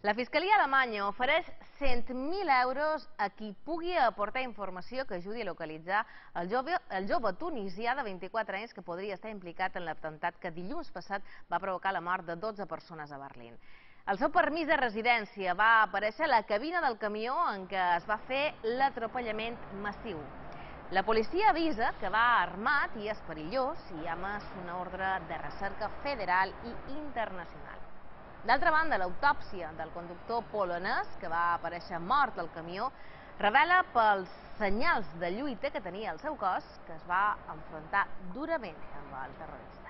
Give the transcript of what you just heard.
La Fiscalia alemanya ofereix 100.000 euros a qui pugui aportar informació que ajudi a localitzar el jove tunisià de 24 anys que podria estar implicat en l'atemptat que dilluns passat va provocar la mort de 12 persones a Berlín. El seu permís de residència va aparèixer a la cabina del camió en què es va fer l'atropellament massiu. La policia avisa que va armat i és perillós i ha emès una ordre de recerca federal i internacional. D'altra banda, l'autòpsia del conductor polonès, que va aparèixer mort al camió, revela pels senyals de lluita que tenia el seu cos que es va enfrontar durament amb el terrorista.